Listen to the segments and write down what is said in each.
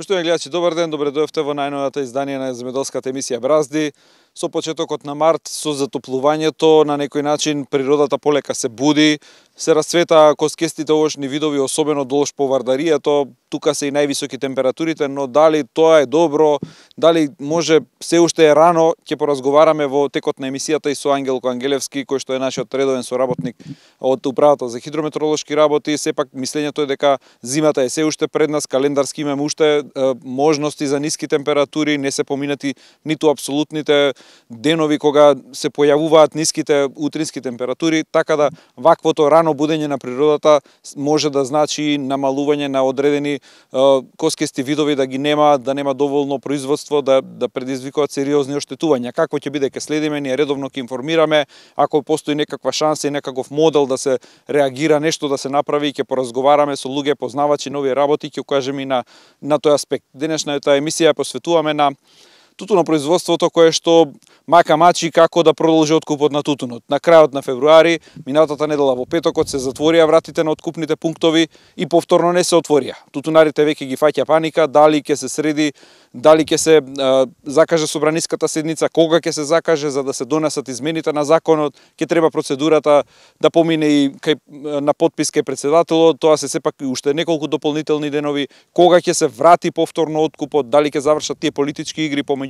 Поштовани гледачи, добар ден, добре дојавте во најновото издание на земјоделската емисија Бразди. Со почетокот на март, со затоплувањето, на некој начин природата полека се буди, се расцвета коскестите овошни видови, особено долж по Вардаријето. Тука се и највисоки температурите, но дали тоа е добро, дали може се уште е рано, ќе поразговараме во текот на емисијата и со Ангелко Ангелевски, кој што е нашиот редовен соработник од Управата за хидрометеоролошки работи. Сепак мислењето е дека зимата е се уште пред нас, календарски имаме уште можности за ниски температури, не се поминати ниту апсолутните денови кога се појавуваат ниските утрински температури, така да ваквото рано будење на природата може да значи намалување на одредени коскести видови, да ги нема, да нема доволно производство, да предизвикуваат сериозни оштетувања. Какво ќе биде, ќе следиме, ние редовно ќе информираме, ако постои некаква шанса и некаков модел да се реагира, нешто да се направи, ќе поразговараме со луѓе познавачи нови работи, ќе укажеме и на тој аспект. Денешната емисија ја посветуваме на тутунопроизводството кое што мака мачи како да продолжи откупот на тутунот. На крајот на февруари, минатата недела во петокот, се затворија вратите на откупните пунктови и повторно не се отворија. Тутунарите веќе ги фаќа паника, дали ќе се среди, дали ќе се закаже собраниската седница, кога ќе се закаже за да се донесат измените на законот, ќе треба процедурата да помине и на подпис кај претседателот, тоа се сепак уште неколку дополнителни денови, кога ќе се врати повторно откупот, дали ќе завршат тие политички игри помеѓу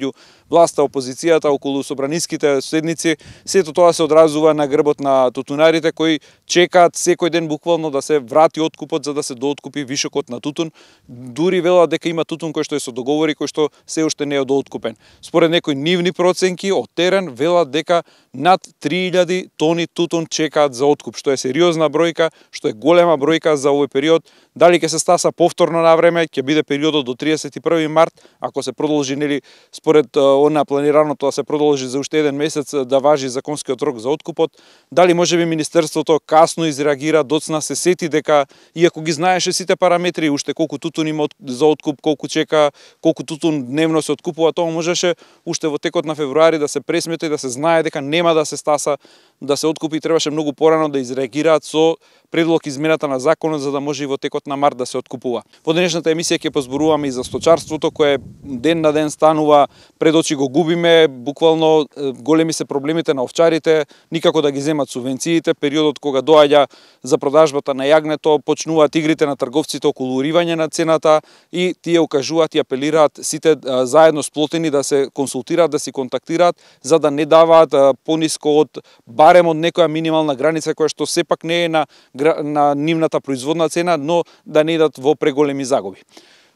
власта, опозицијата околу собраниските седници. Сето тоа се одразува на грбот на тутунарите кои чекаат секој ден буквално да се врати откупот за да се дооткупи вишокот на тутун. Дури велат дека има тутун кој што е со договори, кој што се уште не е дооткупен. Според некои нивни проценки од терен велат дека над 3000 тони тутун чекаат за откуп, што е сериозна бројка, што е голема бројка за овој период. Дали ќе се стаса повторно на време, ќе биде периодот до 31 март, ако се продолжи нели според она планираното да се продолжи за уште еден месец да важи законскиот рок за откупот. Дали можеби министерството касно изреагира, доцна се сети дека иако ги знаеше сите параметри, уште колку тутун има за откуп, колку чека, колку тутун дневно се откупува, тоа можеше уште во текот на февруари да се пресмета и да се знае дека нема да се стаса да се откупи, требаше многу порано да изреагираат со предлог измената на законот за да може и во текот на март да се откупува. Во денешната емисија ќе позборуваме и за сточарството кое ден на ден станува, пред очи го губиме, буквално големи се проблемите на овчарите, никако да ги земат субвенциите, периодот кога доаѓа за продажбата на јагнето, почнуваат игрите на трговците околу уривање на цената и тие укажуваат и апелираат сите заедно сплотени да се консултираат, да се контактираат за да не даваат пониско од барем од некоја минимална граница која што сепак не е на нивната производна цена, но да не идат во преголеми загуби.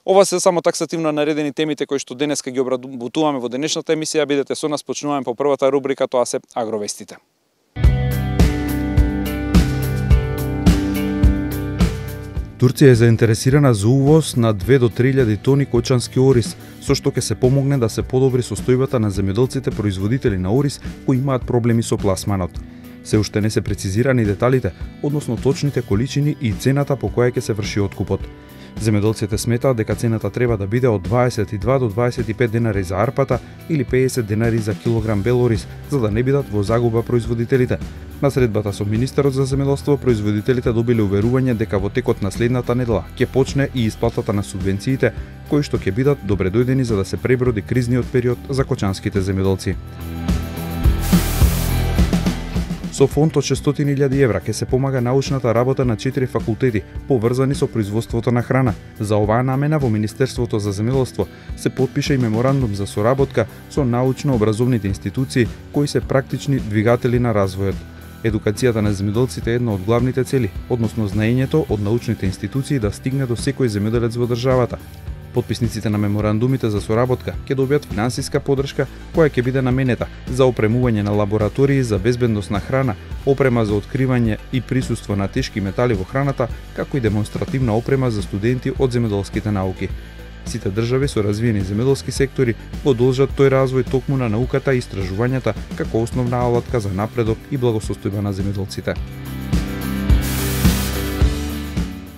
Ова се само таксативно наредени темите кои што денеска ги обработуваме во денешната емисија. Бидете со нас, почнуваме по првата рубрика, тоа се агровестите. Турција е заинтересирана за увоз на 2 до 3000 тони кочански ориз, со што ќе се помогне да се подобри состојбата на земјоделците производители на ориз кои имаат проблеми со пласманот. Се уште не се прецизирани деталите, односно точните количини и цената по која ќе се врши откупот. Земјоделците сметаат дека цената треба да биде од 22 до 25 денари за арпата или 50 денари за килограм бел ориз, за да не бидат во загуба производителите. На средбата со министерот за земјоделство, производителите добиле уверување дека во текот на следната недела ќе почне и исплатата на субвенциите, кои што ќе бидат добредојдени за да се преброди кризниот период за кочанските земјоделци. Со фонд од 600.000 евра ќе се помага научната работа на 4 факултети поврзани со производството на храна. За оваа намена во Министерството за земјоделство се потпиша и меморандум за соработка со научно-образовните институции кои се практични двигатели на развојот. Едукацијата на земјоделците е една од главните цели, односно знаењето од научните институции да стигне до секој земјоделец во државата. Потписниците на меморандумите за соработка ќе добијат финансиска поддршка која ќе биде наменета за опремување на лаборатории за безбедност на храна, опрема за откривање и присуство на тешки метали во храната, како и демонстративна опрема за студенти од земјоделските науки. Сите држави со развиени земјоделски сектори продолжат тој развој токму на науката и истражувањата како основна алатка за напредок и благосостојба на земјоделците.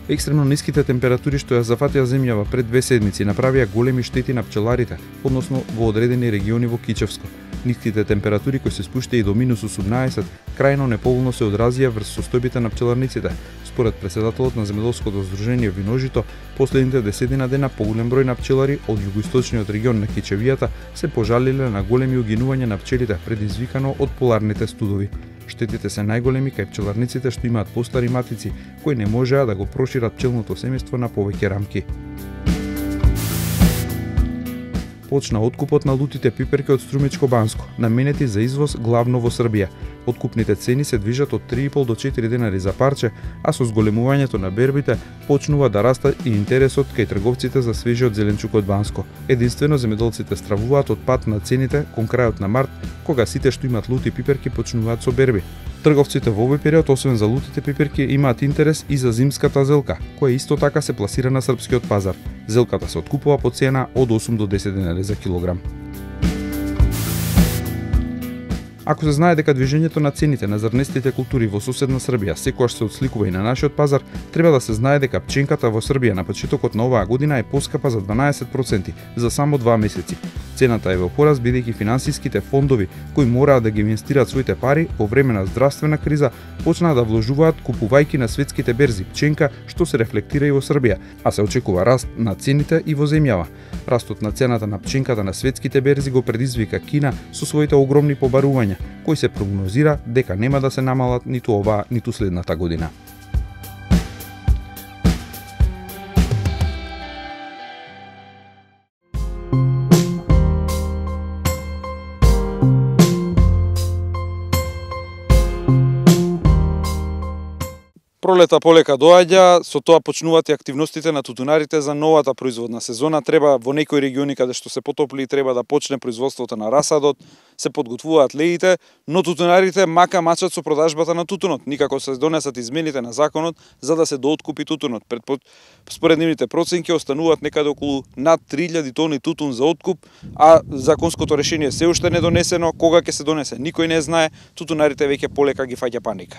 Екстремно ниските температури што ја зафатија земјава пред 2 седмици направија големи штети на пчеларите, односно во одредени региони во Кичевско. Ниските температури кои се спуштија и до минус 18 крајно неповолно се одразија врз состојбите на пчеларниците. Според претседателот на земјоделското здружение Виножито, последните 10 дена поголем број на пчелари од југоисточниот регион на Кичевијата се пожалиле на големи угинувања на пчелите предизвикано од поларните студови. Штетите се најголеми кај пчеларниците што имаат постари матици, кои не можеа да го прошират пчелното семејство на повеќе рамки. Почна откупот на лутите пиперки од Струмичко Банско, наменети за извоз главно во Србија. Откупните цени се движат од 3,5 до 4 денари за парче, а со зголемувањето на бербите почнува да расте и интересот кај трговците за свежиот зеленчук од Банско. Единствено земјоделците стравуваат од пат на цените кон крајот на март, кога сите што имаат лути пиперки почнуваат со берби. Трговците во овој период, освен за лутите пиперки, имаат интерес и за зимската зелка, која исто така се пласира на српскиот пазар. Зелката се откупува по цена од 8 до 10 денари за килограм. Ако се знае дека движењето на цените на зрнестите култури во соседна Србија секогаш се отсликува и на нашиот пазар, треба да се знае дека пченката во Србија на почетокот на оваа година е поскапа за 12% за само 2 месеци. Цената е во пораз бидејќи финансиските фондови кои мораат да ги инвестираат своите пари во време на здравствена криза почнаа да вложуваат купувајќи на светските берзи пченка, што се рефлектира и во Србија, а се очекува раст на цените и во земјава. Растот на цената на пченката на светските берзи го предизвика Кина со своите огромни побарувања, кои се прогнозира дека нема да се намалат ниту оваа, ниту следната година. Пролета полека доаѓа, со тоа почнуваат и активностите на тутунарите за новата производна сезона. Треба во некои региони каде што се потопли треба да почне производството на расадот, се подготвуваат леите, но тутунарите мака мачат со продажбата на тутунот. Никако се донесат измените на законот за да се дооткупи тутунот. Според нивните проценки остануваат некаде околу над 3000 тони тутун за откуп, а законското решение се уште не донесено. Кога ќе се донесе, никој не знае. Тутунарите веќе полека ги фаќа паника.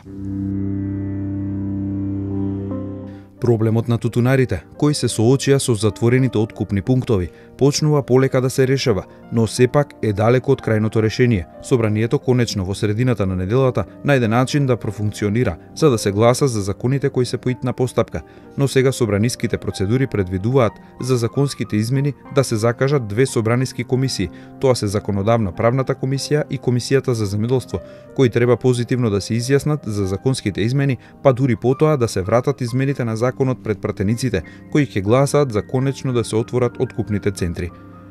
Проблемот на тутунарите, кои се соочија со затворените откупни пунктови, почнува полека да се решава, но сепак е далеко од крајното решение. Собранието конечно во средината на неделата најде начин да профункционира, за да се гласа за законите кои се по итна постапка, но сега собраниските процедури предвидуваат за законските измени да се закажат 2 собраниски комисии. Тоа се Законодавна правната комисија и Комисијата за земјоделство, кои треба позитивно да се изјаснат за законските измени, па дури потоа да се вратат измените на законот пред пратениците, кои ќе гласаат за конечно да се отворат откупните центри.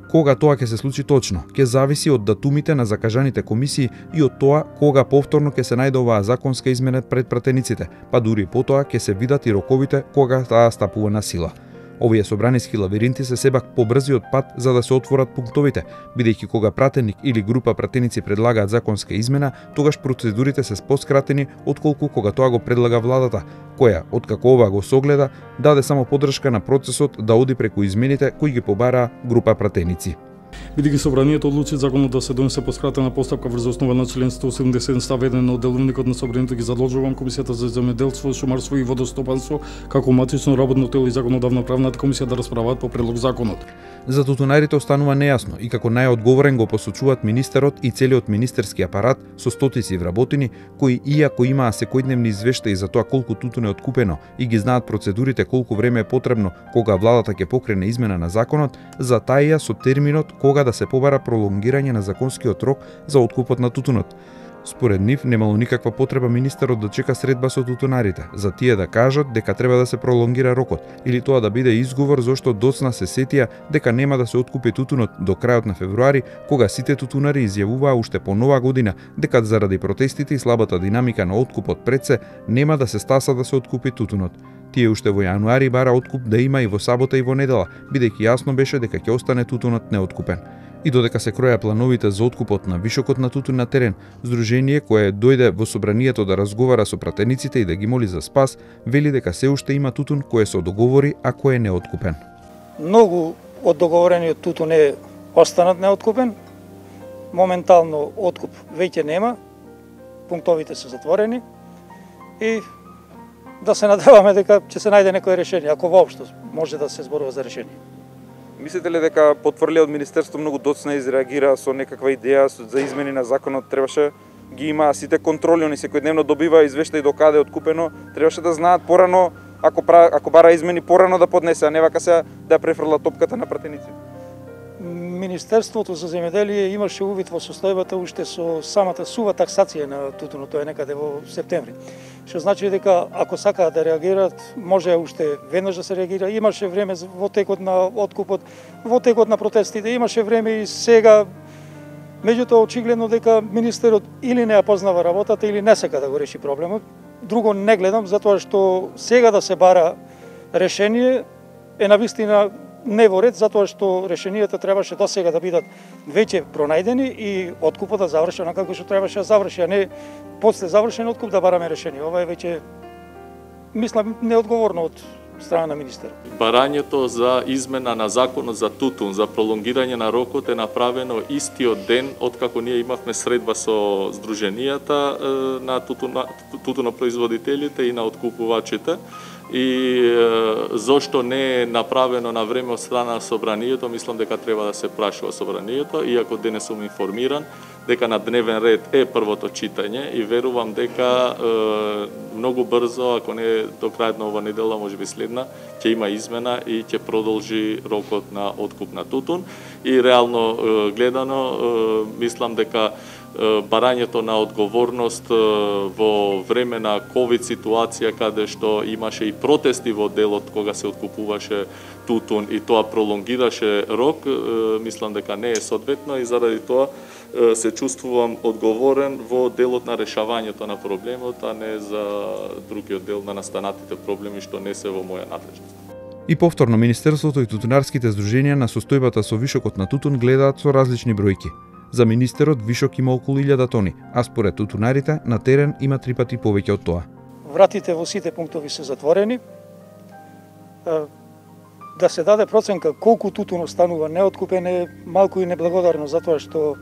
Кога тоа ќе се случи точно, ќе зависи од датумите на закажаните комисии и од тоа кога повторно ќе се најде оваа законска измена пред пратениците, па дури потоа ќе се видат и роковите кога таа стапува на сила. Овие собраниски лавиринти се себак побрзиот пат за да се отворат пунктовите, бидејќи кога пратеник или група пратеници предлагаат законска измена, тогаш процедурите се поскратени отколку кога тоа го предлага владата, која, откако ова го согледа, даде само поддршка на процесот да оди преку измените кои ги побараа група пратеници. Бидејќи собранието одлучи законот да се донесе по скратена постапка врз основа на член 177 став 1 на деловникот на собранието, ги задолжувам Комисијата за земјоделство, шумарство и водостопанство како матично работно тело и Законодавна правната комисија да расправаат по предлог законот. За тутунарите останува нејасно и како најодговорен го посочуваат министерот и целиот министерски апарат со стотици вработени кои иако имаа секојдневни извештаи за тоа колку тутун е откупено и ги знаат процедурите колку време е потребно кога владата ќе покрене измена на законот, затаија со терминот кога да се побара пролонгирање на законскиот рок за откупот на тутунот. Според нив немало никаква потреба министерот да чека средба со тутунарите, за тие да кажат дека треба да се пролонгира рокот, или тоа да биде изговор зошто доцна се сетија дека нема да се откупи тутунот до крајот на февруари, кога сите тутунари изјавуваа уште по нова година дека заради протестите и слабата динамика на откупот пред се, нема да се стаса да се откупи тутунот. Тие уште во јануари бара откуп да има и во сабота и во недела, бидејќи јасно беше дека ќе остане тутунот неоткупен. И додека се кроја плановите за откупот на вишокот на тутун на терен, здружение кое дојде во собранието да разговара со пратениците и да ги моли за спас, вели дека се уште има тутун кој се договори, а кој е неоткупен. Многу од договорениот тутун е останат неоткупен. Моментално откуп веќе нема. Пунктовите се затворени и да се надеваме дека ќе се најде некое решение, ако воопшто може да се зборува за решение. Мислите ли дека потврлија од Министерство многу доцна изреагира со некаква идеја за измени на законот? Требаше ги има сите контроли, они секојдневно добива извештај до каде е откупено, требаше да знаат порано, ако бара измени порано да поднесе, а не вака сега да ја префрла топката на пратениците. Министерството за земјоделие имаше увид во состојбата уште со самата сува таксација на тутунот, тоа е некаде во септември. Што значи дека ако сакаат да реагираат, може уште веднаш да се реагира. Имаше време во текот на откупот, во текот на протестите, имаше време и сега. Меѓутоа очигледно дека министерот или не ја познава работата или не сака да го реши проблемот. Друго не гледам, затоа што сега да се бара решение е навистина не во ред, затоа што решенијата требаше до сега да бидат веќе пронајдени и откупот да заврши онака како што требаше да заврши, а не после завршен откуп да бараме решение. Ова е веќе, мислам, неодговорно од страна на министерот. Барањето за измена на законот за тутун, за пролонгирање на рокот е направено истиот ден откако ние имавме средба со здруженијата на тутунопроизводителите и на откупувачите. И зошто не е направено на време од страна на собранието, мислам дека треба да се прашува собранието, иако денес сум информиран дека на дневен ред е првото читање и верувам дека многу брзо, ако не до крајот на ова недела, можеби следна, ќе има измена и ќе продолжи рокот на откуп на тутун. И реално гледано, мислам дека барањето на одговорност во време на ковид ситуација, каде што имаше и протести во делот кога се откупуваше тутун и тоа пролонгираше рок, мислам дека не е соодветно и заради тоа се чувствувам одговорен во делот на решавањето на проблемот, а не за другиот дел на настанатите проблеми што не се во моја надлежност. И повторно Министерството и тутунарските здруженија на состојбата со вишокот на тутун гледаат со различни бројки. За министерот вишок има околу 1000 тони, а според тутунарите на терен има 3 пати повеќе од тоа. Вратите во сите пунктови се затворени. Да се даде проценка колку тутун останува неоткупен е малку и неблагодарно, затоа што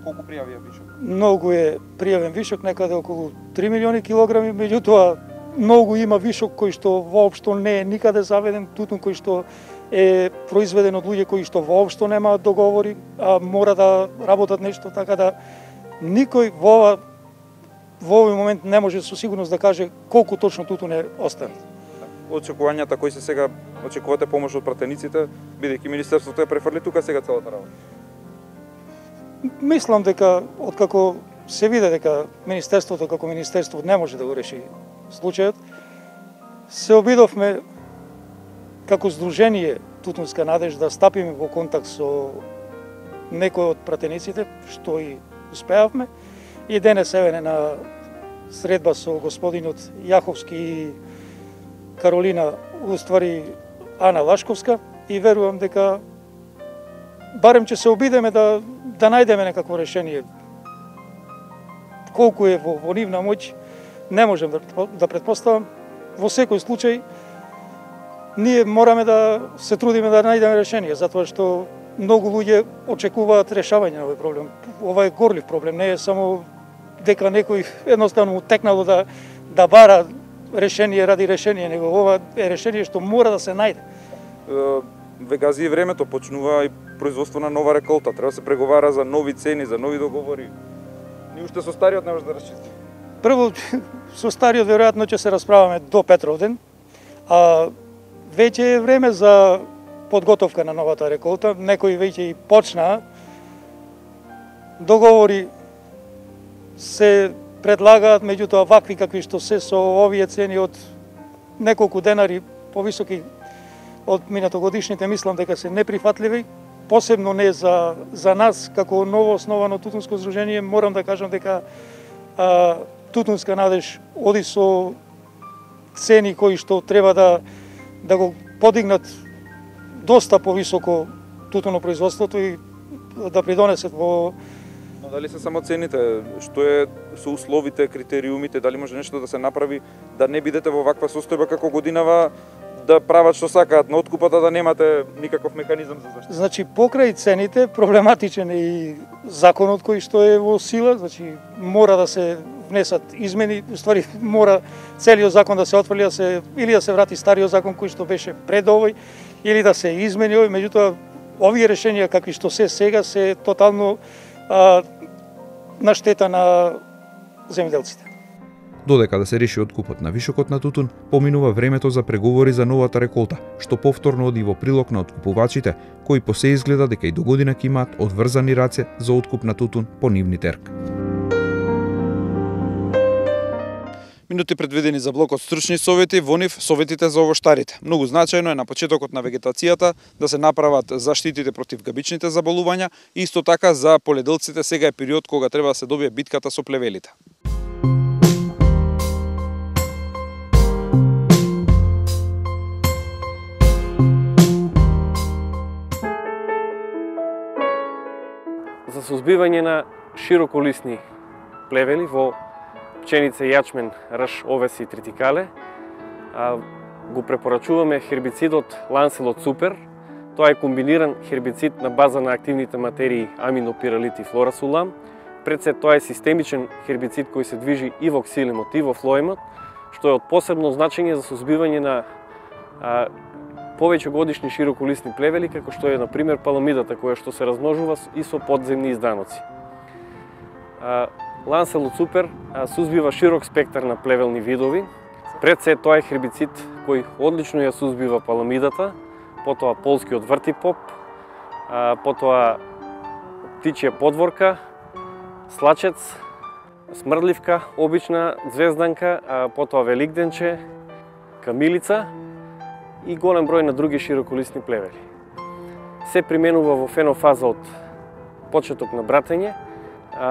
Колку пријави вишок? Многу е пријавен вишок, некаде околу 3 милиони килограми, меѓутоа многу има вишок кој што воопшто не е никаде заведен, тутун кој што е произведен од луѓе кои што воопшто немаат договори, а мора да работат нешто, така да никој во овој момент не може со сигурност да каже колку точно тутун е останат. Очекувањата кои се сега, очекувате помош од пратениците, бидејќи министерството е префрли тука сега целата работа? Мислам дека откако се виде дека министерството како министерство не може да го реши случајот, се обидовме како здружение Тутунска надеж да стапиме во контакт со некои од пратениците, што и успеавме. И денес еве на средба со господинот Јаховски и Каролина, уствари Ана Лашковска, и верувам дека барем ќе се обидеме да најдеме некакво решение. Колку е во нивна моќ, не можем да предпоставам. Во секој случај, ние мораме да се трудиме да најдеме решение, затоа што многу луѓе очекуваат решавање на овој проблем. Ова е горлив проблем, не е само дека некој едноставно му текнало да бара решение ради решение, него ова е решение што мора да се најде. Вегази и времето, почнува и производство на нова реколта, треба да се преговара за нови цени, за нови договори. Ни уште со стариот не може да расчисти. Прво, со стариот веројатно ќе се расправаме до Петровден, а веќе е време за подготовка на новата реколта. Некои веќе и почнаа. Договори се предлагаат, меѓутоа вакви какви што се со овие цени од неколку денари повисоки од минатогодишните, мислам дека се неприфатливи, посебно не за нас како ново основано тутунско здружение. Морам да кажам дека Тутунска надеж оди со цени кои што треба да го подигнат доста повисоко тутунопроизводството и да придонесат во... Но дали се само цените? Што е со условите, критериумите? Дали може нешто да се направи да не бидете во ваква состојба како годинава, да прават што сакаат на откупата, да немате никаков механизам за заштита? Значи, покрај цените, проблематичен е и законот кој што е во сила, значи мора да се внесат измени, уствари мора целиот закон да се отфрли, или да се врати стариот закон кој што беше пред овој, или да се измени овој, меѓутоа овие решенија какви што се сега се тотално на штета на земјоделците. Додека да се реши откупот на вишокот на тутун, поминува времето за преговори за новата реколта, што повторно оди во прилог на откупувачите, кои по се изгледа дека и до година ќе имаат одврзани раце за откуп на тутун по нивни терк. Минути предвидени за блокот стручни совети, во нив советите за овоштарите. Многу значајно е на почетокот на вегетацијата да се направат заштитите против габичните заболувања и исто така за поледелците сега е период кога треба да се добие битката со плевелите. За сузбивање на широколисни плевели во пченица, јачмен, рж, овес и тритикале, го препорачуваме хербицидот Lancelot Super. Тоа е комбиниран хербицид на база на активните материи аминопиралит и флорасулам. Пред се тоа е системичен хербицид кој се движи и во ксилемот и во флоемот, што е од посебно значење за сузбивање на повеќе годишни широколисни плевели, како што е, например, паламидата, која што се размножува и со подземни изданоци. Lancelot Super сузбива широк спектар на плевелни видови. Пред се тоа е хербицид кој одлично ја сузбива паламидата, потоа полскиот вртипоп, потоа птичја подворка, слачец, смрдливка, обична звезданка, потоа великденче, камилица и голем број на други широколисни плевели. Се применува во фенофаза од почеток на братење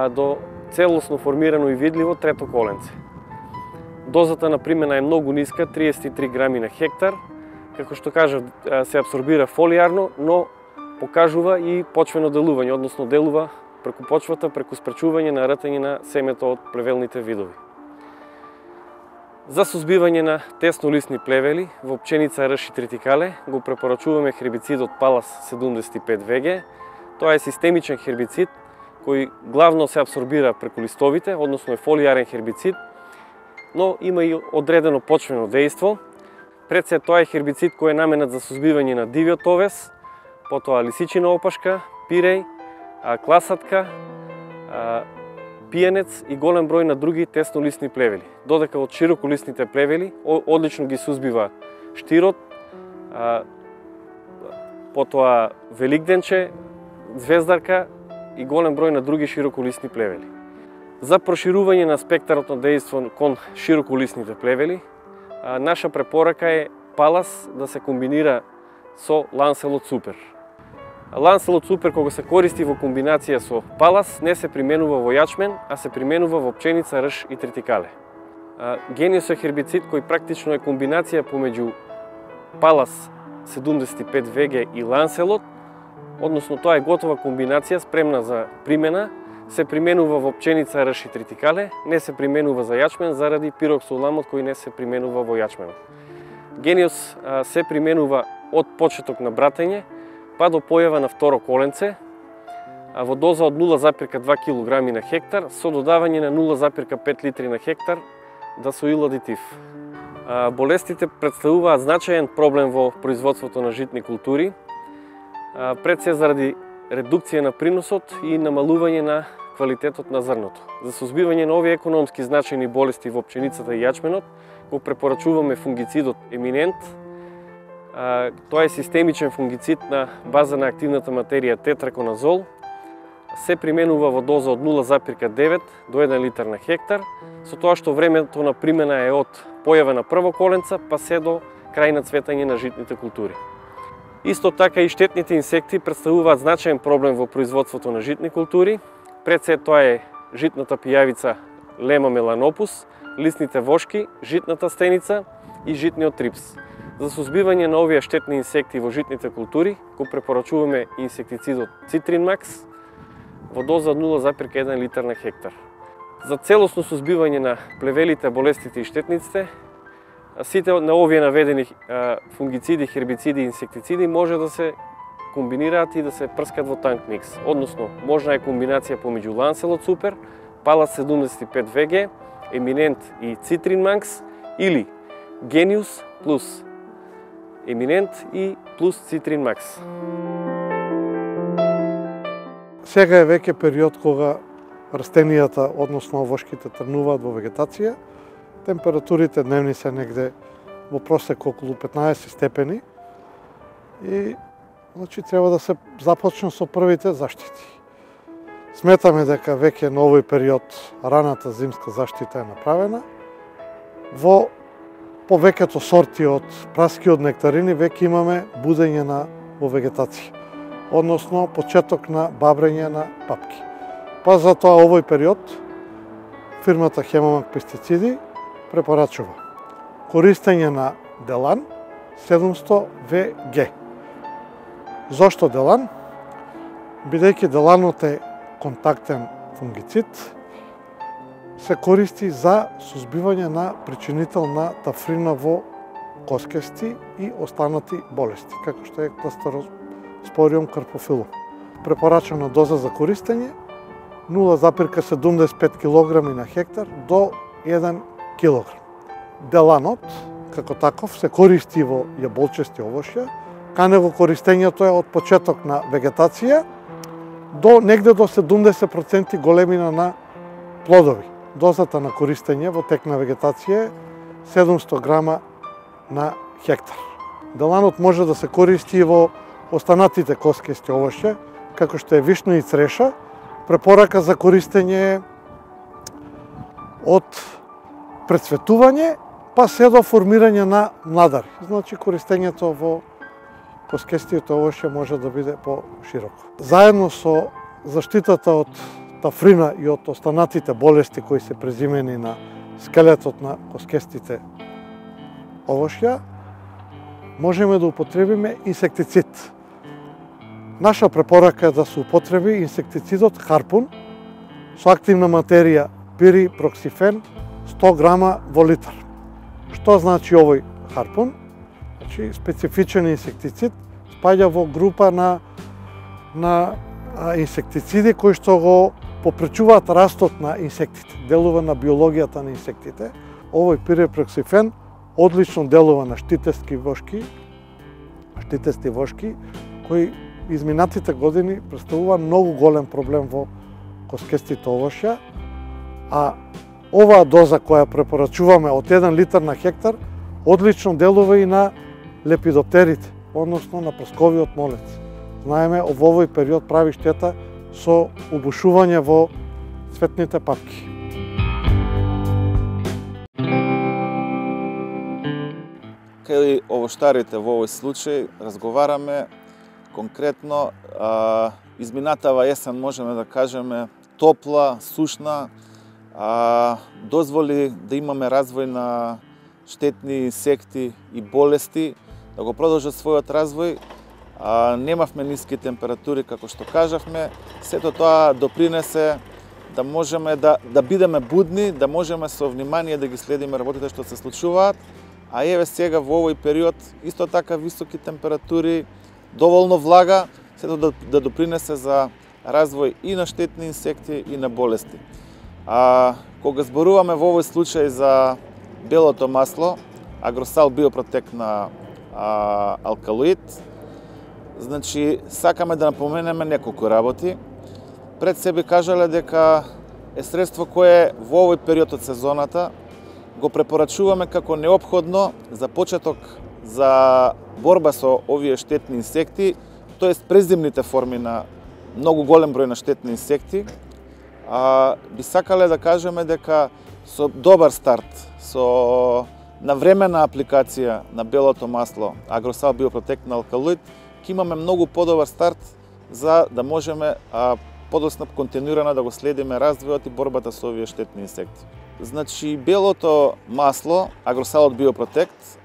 до целосно формирано и видливо трето коленце. Дозата на примена е многу ниска, 33 грами на хектар. Како што кажав, се абсорбира фолијарно, но покажува и почвено делување, односно делува преку почвата, преку спречување на ртање на семето од плевелните видови. За сузбивање на теснолисни плевели во пченица, рж и тритикале го препорачуваме хербицидот Pallas 75 VG. Тоа е системичен хербицид кој главно се абсорбира преку листовите, односно е фолијарен хербицид, но има и одредено почвено дејство. Пред се тоа е хербицид кој е наменат за сузбивање на дивиот овес, потоа лисичина опашка, пиреј, класатка, пиенец и голем број на други теснолисни плевели. Додека од широколисните плевели одлично ги сузбива штирот, потоа великденче, звездарка и голем број на други широколисни плевели. За проширување на спектарот на дејство кон широколисните плевели, наша препорака е Pallas да се комбинира со Lancelot Super. Lancelot Super кога се користи во комбинација со Pallas не се применува во јачмен, а се применува во пченица, рж и тритикале. Genius е хербицид кој практично е комбинација помеѓу Pallas 75 VG и Lancelot, односно тоа е готова комбинација спремна за примена, се применува во пченица, рж и тритикале, не се применува за јачмен заради пироксоламот кој не се применува во јачменот. Genius се применува од почеток на братење па до појава на второ коленце, во доза од 0,2 кг на хектар со додавање на 0,5 литри на хектар дасоил адитив. Болестите представуваат значаен проблем во производството на житни култури, пред се заради редукција на приносот и намалување на квалитетот на зрното. За сузбивање на овие економски значајни болести во пченицата и јачменот го препорачуваме фунгицидот Еминент. Тоа е системичен фунгицид на база на активната материја тетраконазол. Се применува во доза од 0,9 до 1 литар на хектар, со тоа што времето на примена е од појава на прво коленца па се до крај на цветање на житните култури. Исто така и штетните инсекти представуваат значаен проблем во производството на житни култури. Пред се тоа е житната пијавица Lema melanopus, лисните вошки, житната стеница и житниот трипс. За сузбивање на овие штетни инсекти во житните култури го препорачуваме инсектицидот Citrin Max во доза од 0,1 литар на хектар. За целосно сузбивање на плевелите, болестите и штетниците, сите на овие наведени фунгициди, хербициди и инсектициди може да се комбинираат и да се прскат во танк микс. Односно, можна е комбинација помеѓу Lancelot Super, Pallas 75 VG Еминент и Цитрин Макс или Гениус плюс Еминент и плюс Цитрин Макс. Сега е веќе период кога растенијата, односно овошките, тргнуваат во вегетација. Температурите дневни се негде во просек околу 15 степени и значи треба да се започне со првите заштити. Сметаме дека веќе на овој период раната зимска заштита е направена. Во повеќето сорти од праски од нектарини веќе имаме будење во вегетација, односно почеток на бабрење на папки. Па затоа овој период фирмата Хемамак пестициди препорачува користење на Делан 700 ВГ. Зошто Делан? Бидејќи Деланот е контактен фунгицид, се користи за сузбивање на причинител на тафрина во коскести и останати болести, како што е Кластероспориум карпофилум. Препорачана доза за користење 0,75 кг на хектар до 1 кг. Деланот, како таков, се користи во јаболчести овошја. Кај него користењето е од почеток на вегетација до негде до 70% големина на плодови. Дозата на користење во тек на вегетација е 700 грама на хектар. Деланот може да се користи и во останатите коскести овошја, како што е вишна и цреша. Препорака за користење од прецветување па се до формирање на младари. Значи користењето во коскестиото овошје може да биде по-широко. Заедно со заштитата од тафрина и од останатите болести кои се презимени на скелетот на коскестите овошја, можеме да употребиме инсектицид. Наша препорака е да се употреби инсектицидот Харпун со активна материја пирипроксифен 100 грама во литар. Што значи овој Харпун? Значи специфичен инсектицид, спаѓа во група на инсектициди кои што го попречуваат растот на инсектите, делува на биологијата на инсектите. Овој пирипроксифен одлично делува на штитести вошки, кои изминатите години представува многу голем проблем во коскестите овошја, а оваа доза која препорачуваме од 1 литар на хектар одлично делува и на лепидоптерите, односно на прсковиот молец. Знаеме, во овој период прави штета со убушување во цветните папки. Кај овоштарите во овој случај разговараме конкретно, изминатава есен можеме да кажеме топла, сушна, дозволи да имаме развој на штетни инсекти и болести, да го продолжат својот развој. Немавме ниски температури, како што кажавме. Сето тоа допринесе да можеме да бидеме будни, да можеме со внимание да ги следиме работите што се случуваат. А еве сега во овој период исто така високи температури, доволно влага, сето да допринесе за развој и на штетни инсекти и на болести. Кога зборуваме во овој случај за белото масло, Агросал Биопротек на алкалоид, значи сакаме да напоменеме неколку работи. Пред себе кажале дека е средство кое во овој период од сезоната го препорачуваме како неопходно за почеток за борба со овие штетни инсекти, тоест презимните форми на многу голем број на штетни инсекти. Би сакале да кажеме дека со добар старт, со навремена апликација на белото масло Агросал Биопротек на алкалоид, ќе имаме многу подобар старт за да можеме подоцна континуирано да го следиме развојот и борбата со овие штетни инсекти. Значи, белото масло, Агросалот Биопротект,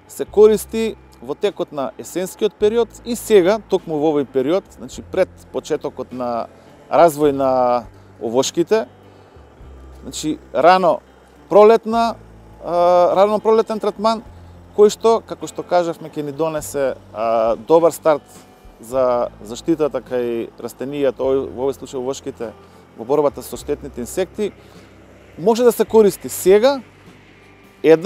се користи во текот на есенскиот период и сега, токму во овој период, значи пред почетокот на развој на овошките, значи рано пролетен третман, кој што, како што кажавме, ќе ни донесе добар старт за заштитата кај растенијата, во овој случај овошките, во борбата со штетните инсекти. може да се користи сега,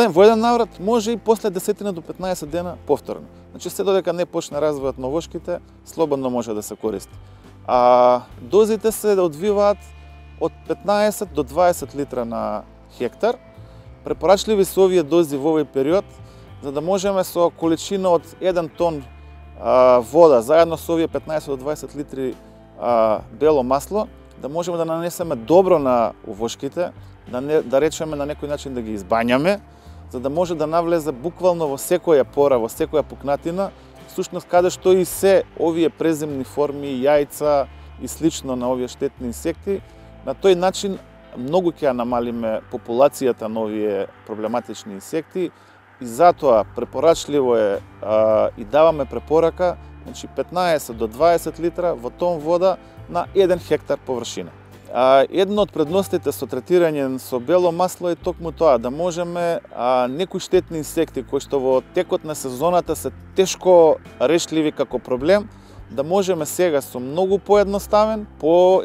во еден наврат, може и после 10 до 15 дена повторно. Значи, се додека не почне развојот на вошките, слободно може да се користи. Дозите се одвиваат од 15 до 20 литра на хектар. Препорачливи се овие дози во овој период, за да можеме со количина од 1 тон вода, заедно со овие 15 до 20 литри бело масло, да можеме да нанесеме добро на овошките, да речеме на некој начин да ги избањаме, за да може да навлезе буквално во секоја пора, во секоја пукнатина, всушност каде што и се овие преземни форми, јајца и слично на овие штетни инсекти. На тој начин многу ќе намалиме популацијата на овие проблематични инсекти и затоа препорачливо е и даваме препорака, значи 15 до 20 литра во тон вода на 1 хектар површина. Едно од предностите со третирање со бело масло е токму тоа, да можеме некои штетни инсекти кои што во текот на сезоната се тешко решливи како проблем, да можеме сега со многу поедноставен, по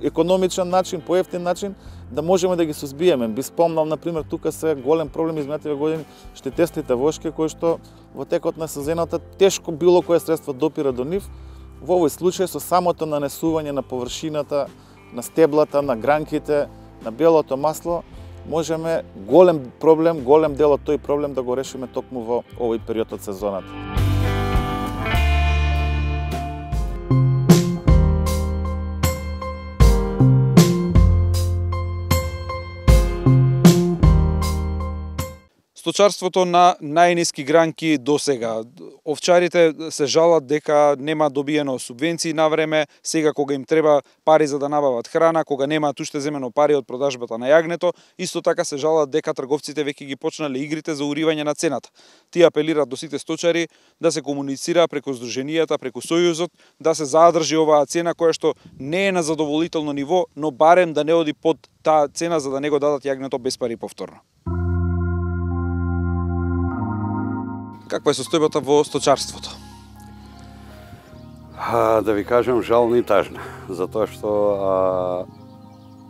економичен начин, по ефтин начин, да можеме да ги сузбиеме. Би спомнал, например, тука се голем проблем изминативе години штетестите вошки, кои што во текот на сезоната тешко било кое средство допира до нив. Во овој случај со самото нанесување на површината, на стеблата, на гранките, на белото масло, можеме голем дел од тој проблем да го решиме токму во овој период од сезоната. Сточарството на најниски гранки досега. Овчарите се жалат дека нема добиено субвенции на време, сега кога им треба пари за да набават храна, кога немаат уште земено пари од продажбата на јагнето, исто така се жалат дека трговците веќе ги почнале игрите за уривање на цената. Тие апелираат до сите сточари да се комуницира преку здруженијата, преку Сојузот, да се задржи оваа цена која што не е на задоволително ниво, но барем да не оди под таа цена за да не го дадат јагнето без пари повторно. Каква е состојбата во сточарството? Да ви кажам, жална и тажна, затоа што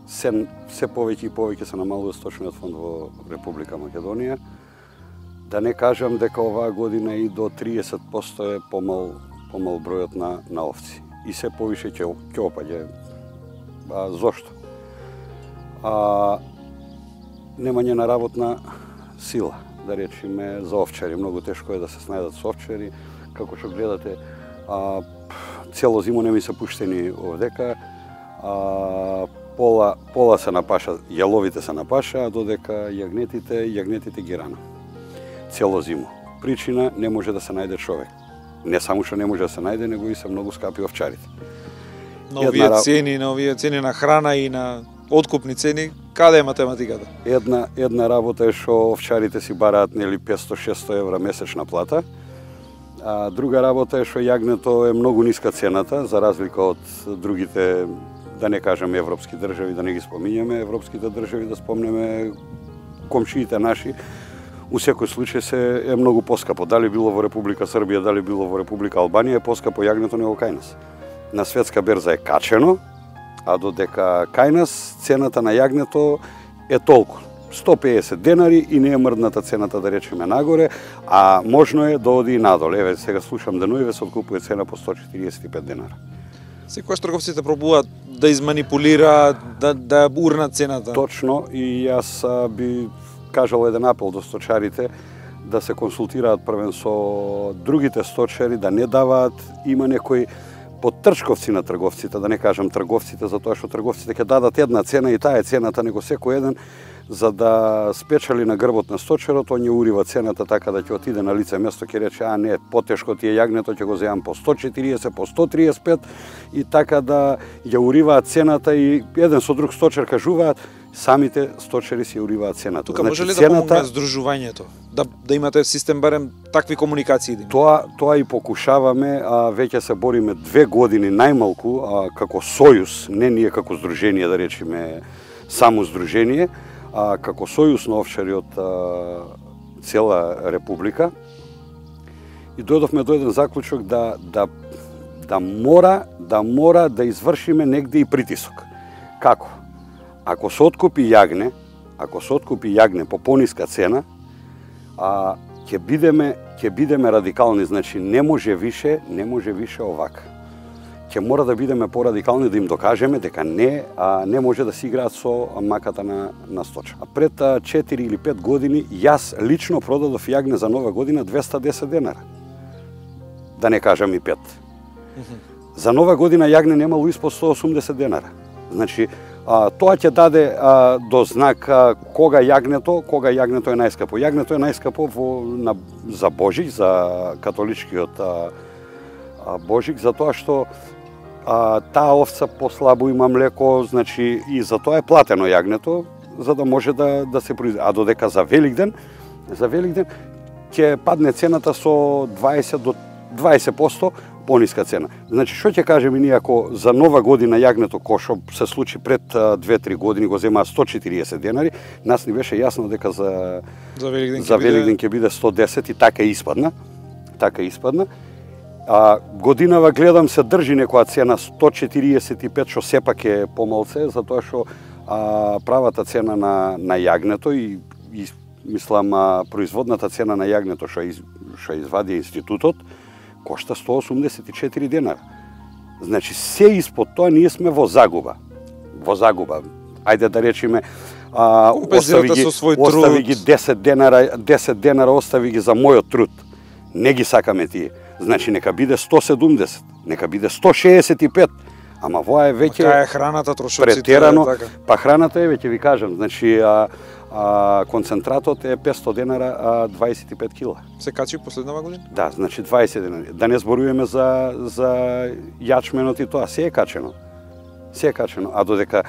се повеќе и повеќе се намалува сточниот фонд во Република Македонија. Да не кажам дека оваа година и до 30% е помал бројот на овци. И се повише ќе опаѓа. Зошто? Немање на работна сила. Да речеме за овчари. Многу тешко е да се снајдат со овчари. Како што гледате, цело зимо не ми се пуштени овдека. Пола се напаша, јаловите се напаша, додека јагнетите ги рана. Цело зимо. Причина, не може да се најде човек. Не само што не може да се најде, него и се многу скапи овчарите. На овие цени на храна и на откупни цени, каде е математиката? Една работа е што овчарите си бараат 500-600 евра месечна плата, а друга работа е што јагнето е многу ниска цената, за разлика од другите, да не кажем европски држави, да не ги спомињаме, европските држави, да спомнеме комшиите наши, у секој случај е многу поскапо. Дали било во Република Србија, дали било во Република Албанија, е поскапо јагнето него кај нас. На светска берза е качено, а додека кај нас цената на јагнето е толку. 150 денари и не е мрдната цената, да речеме, нагоре, а можно е да оди и надоле. Еве, сега слушам денуиве се откупува цена по 145 денара. Секогаш трговците пробуваат да изманипулираат, да урнат цената. Точно, и јас би кажал еден апел до сточарите да се консултираат првен со другите сточари, да не даваат, има некои подтршковци на трговците, да не кажам трговците, затоа што трговците ќе дадат една цена и таа е цената, него секој еден, за да спечали на грбот на сточарот, он ја урива цената така да ќе отиде на лице место, ќе рече, не, потешко ти е јагнето, ќе го земам по 140, по 135, и така да ја уриваат цената и еден со друг сточар кажуваат, самите сточари си уриваат цената. Тука може ли да помогне здружувањето? Да имате систем барем такви комуникации? Тоа и покушаваме, веќе се бориме 2 години најмалку како сојуз, не ние како здружение, да речеме само здружение, како сојуз на овчари од цела република. И дојдовме до еден заклучок да мора да извршиме негде и притисок. Како? ако се откупи јагне по пониска цена, ќе бидеме радикални, значи не може више овака. Ќе мора да бидеме порадикални, да им докажеме дека не може да си играат со маката на сточа. Пред 4 или 5 години јас лично продадов јагне за Нова година 210 денара. Да не кажам и 5. За Нова година јагне немало испод 180 денара. Значи, тоа ќе даде до знак кога јагнето е најскапо. Јагнето е најскапо за Божик, за католичкиот Божик, затоа што таа овца послабо има млеко, значи и за тоа е платено јагнето, за да може да се произведе. А додека за Великден ќе падне цената со 20 до 20% пониска цена. Значи, што ќе кажеме ние ако за Нова година јагнето, кој што се случи пред 2-3 години, го земаа 140 денари, нас ни беше јасно дека за Великден ќе биде 110 и така испадна. Годинава гледам се држи некоја цена 145, што сепак е помалце, затоа што правата цена на јагнето и мислам производната цена на јагнето што извади институтот кошта 184 денара. Значи се испод тоа ние сме во загуба. Ајде да речеме остави ги 10 денара остави ги за мојот труд. Не ги сакаме тие. Значи нека биде 170, нека биде 165. Ама воа е веќе Кај храната, трошоците, претерано. така. Па храната е веќе ви кажам, значи концентратот е 500 денара 25 кила. Се качи последнава година? Да, значи 20 денари. Да не зборуваме за јачменот и тоа, се е качено. А додека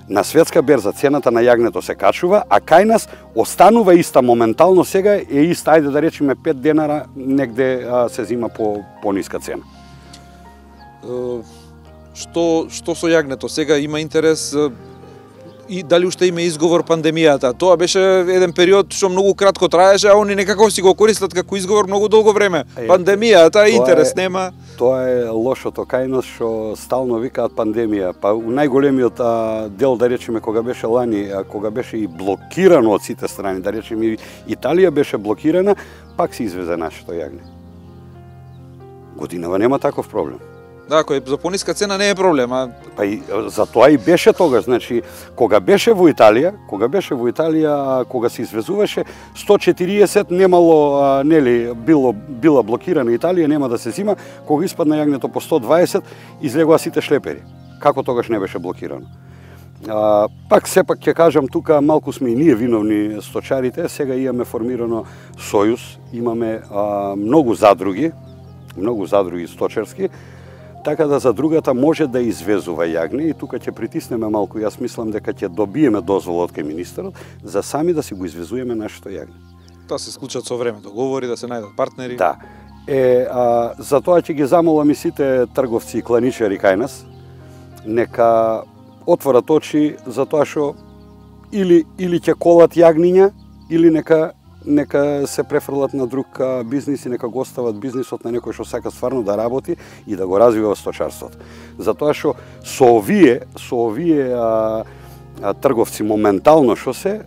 на светска берза цената на јагнето се качува, а кај нас останува иста моментално сега е иста, ајде да речеме 5 денара негде се зима по ниска цена. Што со јагнето? Сега има интерес и дали уште има изговор пандемијата? Тоа беше еден период што многу кратко траеше, а они некако си го користат како изговор многу долго време. Пандемијата, интерес нема. Тоа е лошото кај нас што стално викаат пандемија. Па у најголемиот дел, да речеме, кога беше лани, кога беше и блокирано од сите страни, да речеме и Италија беше блокирана, пак се извезе нашето јагне. Годинава нема таков проблем. Да, кој за пониска цена не е проблем, Па и за тоа и беше тогаш, значи кога беше во Италија, кога се извезуваше 140 немало била блокирана Италија, нема да се зима, кога испадна јагнето по 120 излегоа сите шлепери. Како тогаш не беше блокирано? Пак сепак ќе кажам, тука малку сме и ние виновни сточарите, сега имаме формирано сојуз, имаме многу задруги сточарски, така да задругата може да извезува јагне и тука ќе притиснеме малку. Јас мислам дека ќе добиеме дозвола од кај министерот за сами да си го извезуваме нашето јагне. Тоа се склучат со време договори, да се најдат партнери. Да. Затоа ќе ги замолам и сите трговци и кланичари кај нас, нека отворат очи за тоа што или ќе колат јагниња, или нека се префрлат на друг бизнис и нека го остават бизнисот на некој што сака стварно да работи и да го развива сточарството. Затоа што со овие трговци моментално што се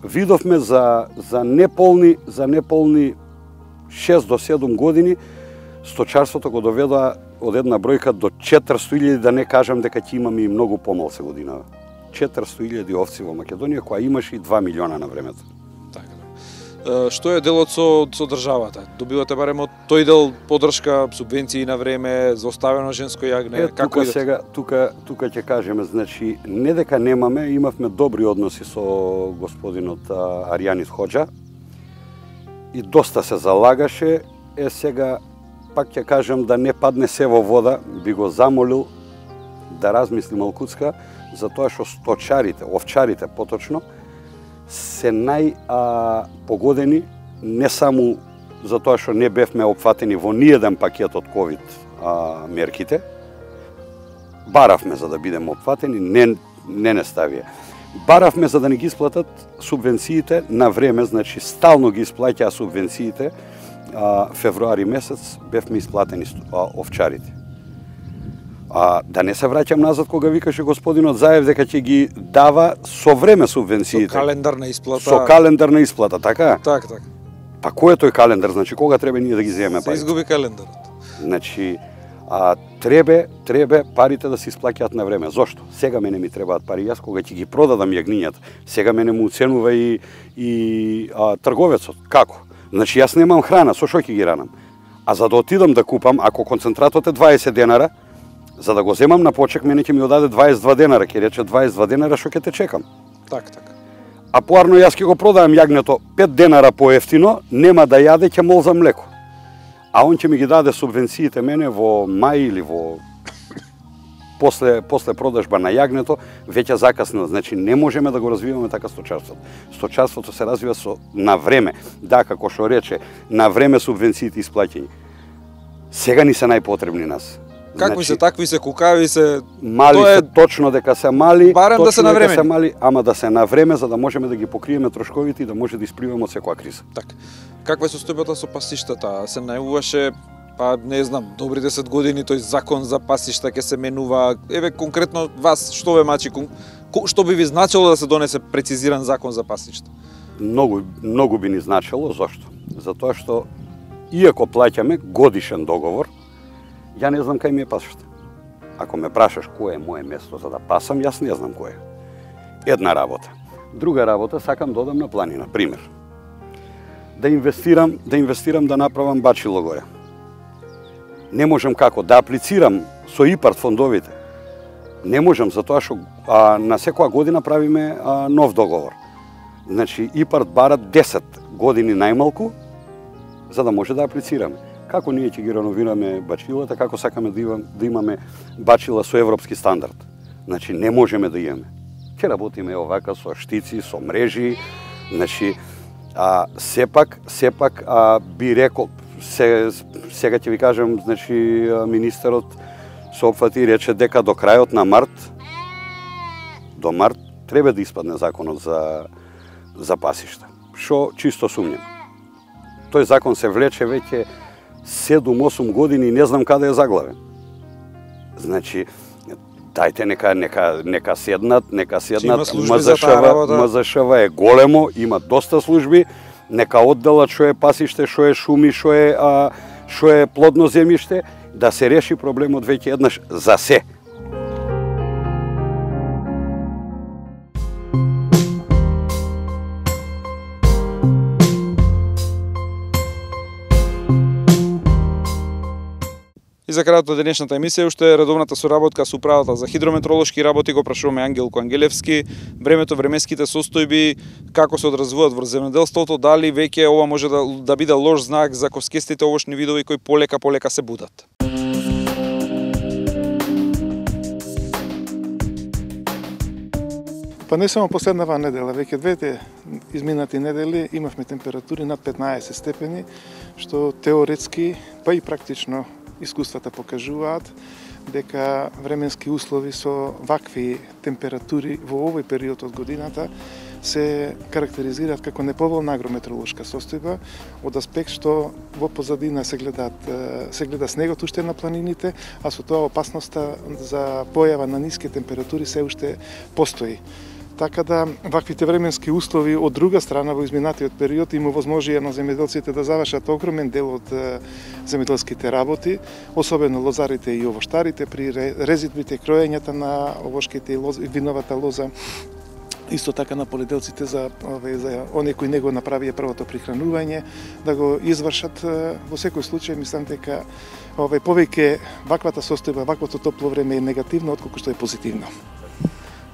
видовме за неполни 6 до 7 години сточарството го доведоа од една бројка до 400.000, да не кажам дека ќе имаме и многу помалце годинава. 400.000 овци во Македонија, која имаше и 2 милиона на времето. Што е делот со државата? Добивате барем од тој дел поддршка, субвенции на време, за оставено женско јагне? Како сега, тука ќе кажеме, значи, не дека немаме, имавме добри односи со господинот Аријанис Хоџа и доста се залагаше. Сега, пак ќе кажем, да не падне се во вода, би го замолил да размисли малкуцка, за тоа што сточарите, овчарите поточно, се најпогодени, не само за тоа што не бевме опфатени во ниеден пакет од ковид мерките. Баравме за да бидеме опфатени, не ставија. Баравме за да не ги исплатат субвенциите на време, значи стално ги исплаќаа субвенциите. Февруари месец бевме исплатени овчарите. Да не се враќам назад кога викаше господинот Заев дека ќе ги дава со време субвенциите. Со календарна исплата. Со календарна исплата, така? Така. Па кој е тој календар? Значи кога треба ние да ги земеме парите? Се изгуби календарот. Значи треба парите да се исплаќаат на време. Зошто? Сега мене ми требаат пари. Јас кога ќе ги продадам јагнињата, сега мене му уценува и трговецот. Како? Значи јас немам храна, со што ќе ги ранам? А за да отидам да купам, ако концентратот е 20 денара, за да го земам на почек, мене ќе ми одаде 22 денара, ќе рече 22 денара што ќе те чекам. Така. А поарно јас ќе го продавам јагнето 5 денара поевтино, нема да јаде, ќе мол за млеко. А он ќе ми ги даде субвенциите мене во мај или во после продажба на јагнето, веќе закаснило. Значи не можеме да го развиваме така сточарството. Сточарството се развива на време. Да, како што рече, на време субвенциите исплаќање. Сега ни се најпотребни нас. Какви се, такви се, кукави се... Мали се, точно дека се мали, барем да се на време. Ама да се на време, за да можеме да ги покриеме трошковите и да може да испливаме од секоја криза. Така. Каква е состојбата со пасиштата? Се најуваше, па не знам, добри 10 години тој закон за пасишта ќе се менува. Еве конкретно вас што ве мачи, што би ви значило да се донесе прецизиран закон за пасишта? Многу би ни значило, зошто? Затоа што иако плаќаме годишен договор, ја не знам кај ми е пасишта. Ако ме прашаш кое е мое место за да пасам, јас не знам кое. Една работа. Друга работа, сакам да одам на планина, пример. Да инвестирам да направам бачило горе. Не можам како да аплицирам со ИПАРД фондовите. Не можам затоа што на секоја година правиме нов договор. Значи ИПАРД бара 10 години најмалку за да може да аплицираме. Како ние ќе ги реновираме бачилата, како сакаме да имаме бачила со европски стандард. Значи не можеме да имаме. Ќе работиме овака со штици, со мрежи, значи сепак би рекол сега ќе ви кажам, значи министерот се опфати и рече дека до крајот на март треба да испадне законот за пасишта. Што чисто сумњам. Тој закон се влече веќе 7-8 години и не знам каде е заглавен. Значи, дајте нека седнат, МЗШВ е големо, има доста служби, нека одделат што е пасиште, што е шуми, што е плодно земјиште, да се реши проблемот веќе еднаш за се. И за крајот од денешната емисија уште редовната соработка со управата за хидрометролошки работи го прашуваме Ангелко Ангелевски, времето, времеските состојби, како се одразуват во земјоделството, дали веќе ова може да биде лош знак за коскестите овошни видови кои полека се будат. Па не само последнава недела, веќе двете изминати недели имавме температури над 15 степени, што теоретски, па и практично искуствата покажуваат дека временски услови со вакви температури во овој период од годината се карактеризираат како неповолна агрометеоролошка состојба од аспект што во позадина се гледа снегот уште на планините, а со тоа опасноста за појава на ниски температури се уште постои. Така да, ваквите временски услови од друга страна во изминатиот период им овозможија на земјоделците да завршат огромен дел од земјоделските работи, особено лозарите и овоштарите при резидбите, кроењата на овошките и виновата лоза, исто така на полиделците за оние кои не го направија првото прихранување, да го извршат. Во секој случај, мислам дека повеќе ваквата состојба, ваквото топло време е негативно, отколку што е позитивно.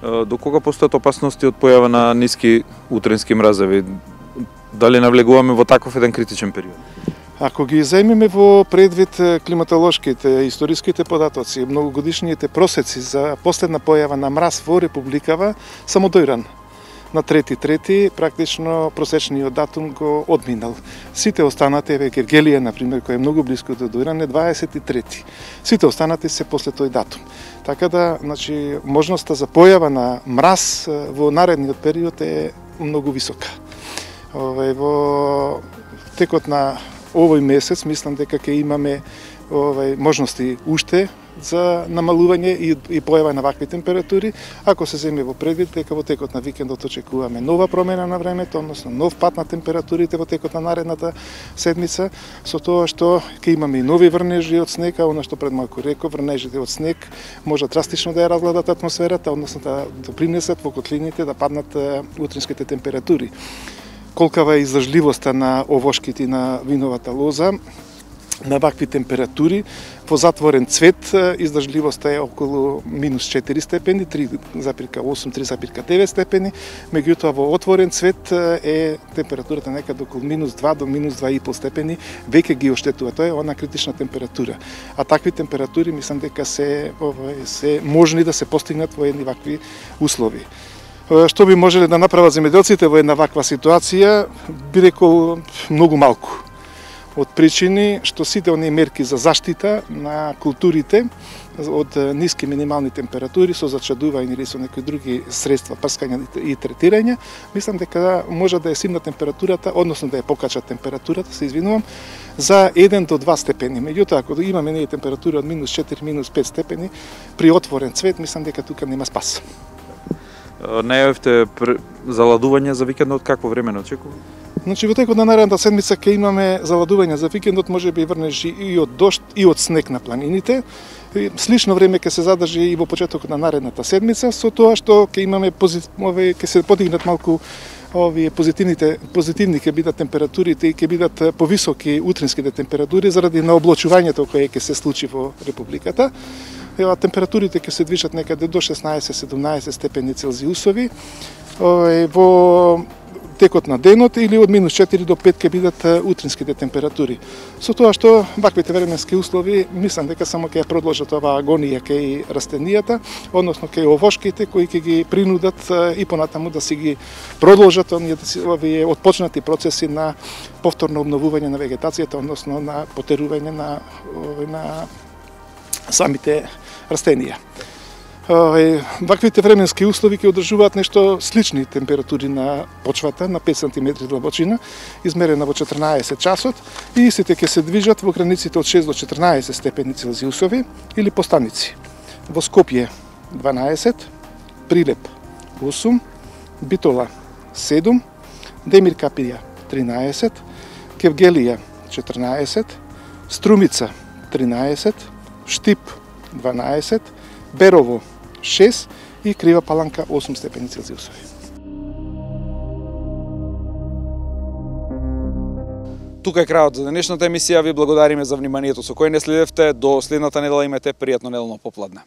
До кога постојат опасности од појава на ниски утренски мразеви? Дали навлегуваме во таков еден критичен период? Ако ги земиме во предвид климатолошките, историските податоци, многогодишните просеци за последна појава на мраз во Републикава, само дојран. На 3.3. практично просечниот датум го одминал. Сите останати, еве Гергелија, например, кој е многу близко до дојран, е 23. Сите останати се после тој датум. Така да, значи, можноста за појава на мраз во наредниот период е многу висока. Во текот на овој месец, мислам дека ќе имаме можности уште за намалување и појава на вакви температури, ако се земе во предвид дека во текот на викендот очекуваме нова промена на времето, односно нов пат на температурите во текот на наредната седмица, со тоа што ќе имаме и нови врнежи од снег, а она што пред малку реков, врнежите од снег може драстично да ја разгладат атмосферата, односно да допринесат во котлините да паднат утринските температури. Колкава е издржливоста на овошките и на виновата лоза, на вакви температури, во затворен цвет издржливоста е околу минус 4 степени, 3,8, 3,9 степени, меѓутоа во отворен цвет е температурата некаде околу минус 2 до минус 2,5 степени, веќе ги оштетува, тоа е она критична температура. А такви температури мислам дека се можни да се постигнат во едни вакви услови. Што би можеле да направат земјоделците во една ваква ситуација, би рекол многу малку. Од причини што сите оние мерки за заштита на културите од ниски минимални температури со зачадување или со некои други средства, прскање и третирање, мислам дека може да ја симна температурата, односно да ја покачат температурата, се извинувам, за 1 до 2 степени. Меѓутоа, ако имаме ние температури од минус 4, минус 5 степени, при отворен цвет, мислам дека тука нема спас. Најавивте заладување за викендот, какво време не очекува? Значи, во текот на наредната седмица ќе имаме заладување за викендот, може би врнежи и од дожд и од снег на планините. Слично време ќе се задржи и во почетокот на наредната седмица, со тоа што ќе имаме ќе се подигнат малку овие позитивни ќе бидат температурите и ќе бидат повисоки утринските температури заради наоблачувањето кое ќе се случи во републиката. Температурите ќе се движат некаде до 16-17 степени Целзиусови. Во текот на денот или од минус 4 до 5 ќе бидат утринските температури. Со тоа што ваквите временски услови, мислам дека само ќе ја продолжат оваа агонија кај растенијата, односно кај овошките кои ќе ги принудат и понатаму да си ги продолжат овие отпочнати процеси на повторно обновување на вегетацијата, односно на потерување на самите растенија. Ваквите временски услови ќе одржуваат нешто слични температури на почвата на 5 см длабочина, измерена во 14 часот, и истите ќе се движат во границите од 6 до 14 степени Целзиусови или по станици. Во Скопје 12, Прилеп 8, Битола 7, Демир Капија 13, Кевгелија 14, Струмица 13, Штип 12, Берово 6 и Крива Паланка 8 степени Целзиусови. Тука е крајот за денешната емисија. Ви благодариме за вниманието со кој не следевте. До следната недела имате пријатно неделно попладне.